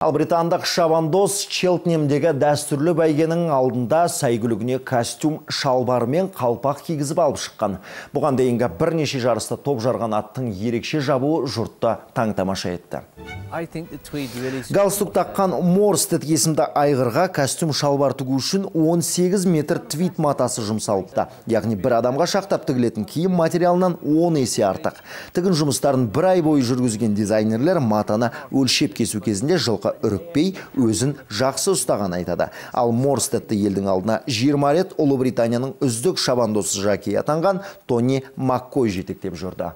Ал британдық шабандоз Челтнемдегі дәстүрлі бәйгенің алдында сәйгүлігіне костюм, шалбар мен қалпақ кигізіп алып шыққан. Бұған дейінгі бірнеше жарыста топ жарған аттың ерекше жабуы жұртты таң-тамаша етті. Галстук таққан Морстед есімді айғырға костюм шалбар тігу үшін 18 метр твит матасы жұмсалыпты. Яғни бір адамға шақтап тігілетін киім материалынан 10 есе артық. Тігін жұмыстарын бір ай бойы жүргізген дизайнерлер матаны өлшеп кесу кезінде жылқы үрікпей, өзін жақсы ұстаған айтады. Ал Морстедті елдің алдына 20 рет Ұлыбританияның үздік шабандоз жокейі атанған Тони Маккой жетектеп жүрді.